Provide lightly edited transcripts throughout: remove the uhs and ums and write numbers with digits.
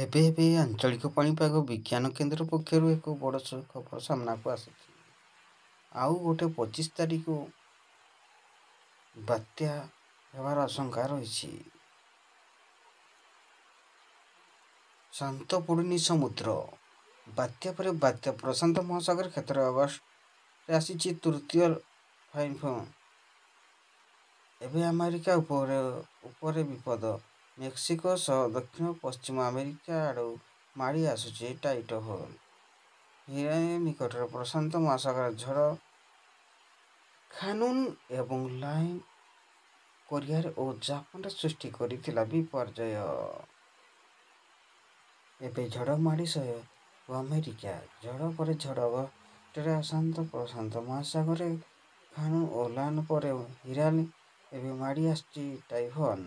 ଏବେ ଏବେ ଆଞ୍ଚଳିକ ପାଣିପାଗ ବିଜ୍ଞାନ କେନ୍ଦ୍ର ପକ୍ଷରୁ ଏକ ବଡ଼ ଖବର ସାମ୍ନାକୁ ଆସିଛି। ଆଉ ଗୋଟେ 25 ତାରିଖ ବାତ୍ୟା ହେବାର ଆଶଙ୍କା ରହିଛି। ଶାନ୍ତ ପଡ଼ୁନି ସମୁଦ୍ର। ବାତ୍ୟା ପରେ ବାତ୍ୟା ପ୍ରଶାନ୍ତ ମହାସାଗର କ୍ଷେତ୍ରରେ ଅଗଷ୍ଟରେ ଆସିଛି ତୃତୀୟ ଫାଇଫୋନ୍। ଏବେ ଆମେରିକା ଉପରେ ବିପଦ। ମେକ୍ସିକୋ ସହ ଦକ୍ଷିଣ ପଶ୍ଚିମ ଆମେରିକା ଆଡ଼କୁ ମାଡ଼ି ଆସୁଛି ଟାଇଫୁନ୍। ହିରାନ ନିକଟରେ ପ୍ରଶାନ୍ତ ମହାସାଗରରେ ଝଡ଼ ଖାନୁନ୍ ଏବଂ ଲାଇନ୍ କୋରିଆ ଓ ଜାପାନରେ ସୃଷ୍ଟି କରିଥିଲା ବିପର୍ଯ୍ୟୟ। ଏବେ ଝଡ଼ ମାଡ଼ି ହେବ ଆମେରିକା। ଝଡ଼ ପରେ ଝଡ଼ ଅଗଷ୍ଟରେ ଅଶାନ୍ତ ପ୍ରଶାନ୍ତ ମହାସାଗରରେ ଖାନୁନ୍ ଓ ଲାନ୍ ପରେ ହିରାନ ଏବେ ମାଡ଼ି ଆସୁଛି ଟାଇଫୁନ୍।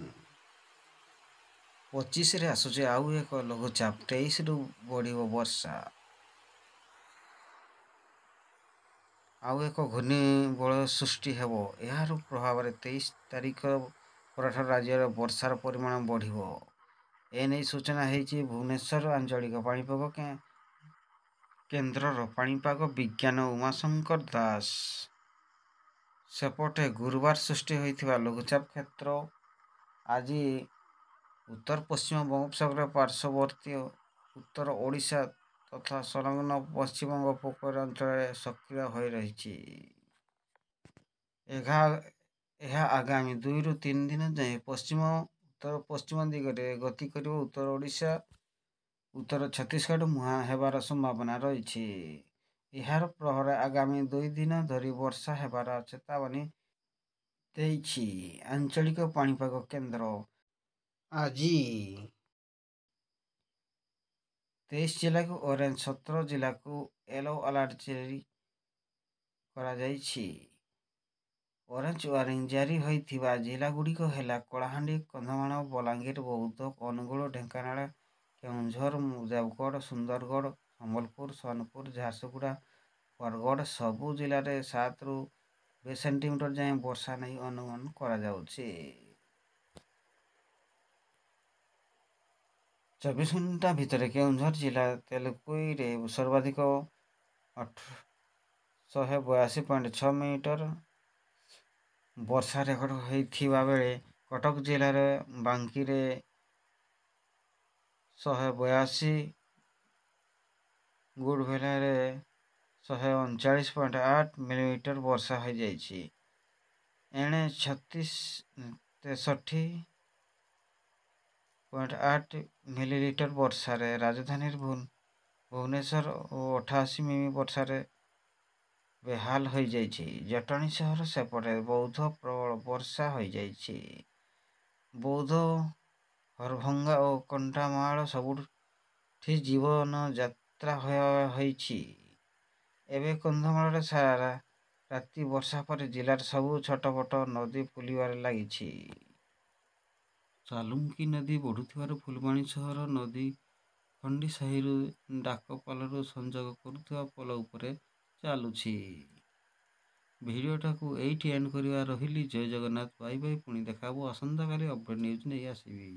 25ରେ ଆସୁଛି ଆଉ ଏକ ଲଘୁଚାପ, 23ରୁ ବଢ଼ିବ ବର୍ଷା। ଆଉ ଏକ ଘୂର୍ଣ୍ଣିବଳୟ ସୃଷ୍ଟି ହେବ। ଏହାର ପ୍ରଭାବରେ 23 ତାରିଖ ପରଠାରୁ ରାଜ୍ୟରେ ବର୍ଷାର ପରିମାଣ ବଢ଼ିବ। ଏନେଇ ସୂଚନା ଦେଇଛନ୍ତି ଭୁବନେଶ୍ୱର ଆଞ୍ଚଳିକ ପାଣିପାଗ କେନ୍ଦ୍ରର ପାଣିପାଗ ବିଜ୍ଞାନୀ ଉମାଶଙ୍କର ଦାସ। ସେପଟେ ଗୁରୁବାର ସୃଷ୍ଟି ହୋଇଥିବା ଲଘୁଚାପ କ୍ଷେତ୍ର ଆଜି ଉତ୍ତର ପଶ୍ଚିମ ବଙ୍ଗୋପସାଗର ପାର୍ଶ୍ୱବର୍ତ୍ତୀ ଉତ୍ତର ଓଡ଼ିଶା ତଥା ସଂଲଗ୍ନ ପଶ୍ଚିମବଙ୍ଗ ଉପକୂଳ ଅଞ୍ଚଳରେ ସକ୍ରିୟ ହୋଇ ରହିଛି। ଏହା ଆଗାମୀ 2ରୁ 3 ଦିନ ଯାଏଁ ପଶ୍ଚିମ ଉତ୍ତର ପଶ୍ଚିମ ଦିଗରେ ଗତି କରି ଉତ୍ତର ଓଡ଼ିଶା ଉତ୍ତର ଛତିଶଗଡ଼ ମୁହାଁ ହେବାର ସମ୍ଭାବନା ରହିଛି। ଏହାର ପ୍ରଭାବରେ ଆଗାମୀ 2 ଦିନ ଧରି ବର୍ଷା ହେବାର ଚେତାବନୀ ଦେଇଛି ଆଞ୍ଚଳିକ ପାଣିପାଗ କେନ୍ଦ୍ର। ଆଜି 23 ଜିଲ୍ଲାକୁ ଅରେଞ୍ଜ, 17 ଜିଲ୍ଲାକୁ ୟେଲୋ ଆଲର୍ଟ ଜାରି କରାଯାଇଛି। ଅରେଞ୍ଜ ୱାର୍ଣ୍ଣିଂ ଜାରି ହୋଇଥିବା ଜିଲ୍ଲାଗୁଡ଼ିକ ହେଲା କଳାହାଣ୍ଡି, କନ୍ଧମାଳ, ବଲାଙ୍ଗୀର, ବୌଦ୍ଧ, ଅନୁଗୁଳ, ଢେଙ୍କାନାଳ, କେନ୍ଦୁଝର, ଦେବଗଡ଼, ସୁନ୍ଦରଗଡ଼, ସମ୍ବଲପୁର, ସୋନପୁର, ଝାରସୁଗୁଡ଼ା, ବରଗଡ଼। ସବୁ ଜିଲ୍ଲାରେ 7ରୁ 20 ସେଣ୍ଟିମିଟର ଯାଏଁ ବର୍ଷା ନେଇ ଅନୁମାନ କରାଯାଉଛି। 24 ଘଣ୍ଟା ଭିତରେ କେନ୍ଦୁଝର ଜିଲ୍ଲା ତେଲକୋଇରେ ସର୍ବାଧିକ 182.6 ମିଲିମିଟର ବର୍ଷା ରେକର୍ଡ ହୋଇଥିବା ବେଳେ କଟକ ଜିଲ୍ଲାର ବାଙ୍କୀରେ 182, ଗୁଡ଼ଭେଲାରେ 139.8 ମିଲିମିଟର ବର୍ଷା ହୋଇଯାଇଛି। ଏଣେ 63.8 ମିଲିମିଟର ବର୍ଷାରେ ରାଜଧାନୀ ଭୁବନେଶ୍ୱର ଓ 88 ମିମି ବର୍ଷାରେ ବେହାଲ ହୋଇଯାଇଛି ଜଟଣୀ ସହର। ସେପଟେ ବୌଦ୍ଧ ପ୍ରବଳ ବର୍ଷା ହୋଇଯାଇଛି। ବୌଦ୍ଧ, ହରଭଙ୍ଗା ଓ କଣ୍ଟାମାଳ ସବୁଠି ଜୀବନଯାତ୍ରା ହୋଇଛି। ଏବେ କନ୍ଧମାଳରେ ସାରା ରାତି ବର୍ଷା ପରେ ଜିଲ୍ଲାର ସବୁ ଛୋଟବଡ଼ ନଦୀ ଫୁଲିବାରେ ଲାଗିଛି। ସାଲୁଙ୍କୀ ନଦୀ ବଢ଼ୁଥିବାରୁ ଫୁଲବାଣୀ ସହର ନଦୀଖଣ୍ଡିସାହିରୁ ଡାକପାଲକୁ ସଂଯୋଗ କରୁଥିବା ପୋଲ ଉପରେ ଚାଲୁଛି। ଭିଡ଼ିଓଟାକୁ ଏଇଠି ଏଣ୍ଡ କରିବା। ରହିଲି, ଜୟ ଜଗନ୍ନାଥ, ବାଇ ବାଇ। ପୁଣି ଦେଖା ହେବ ଆସନ୍ତାକାଲି, ଅପଡ଼େଟ୍ ନ୍ୟୁଜ୍ ନେଇ ଆସିବି।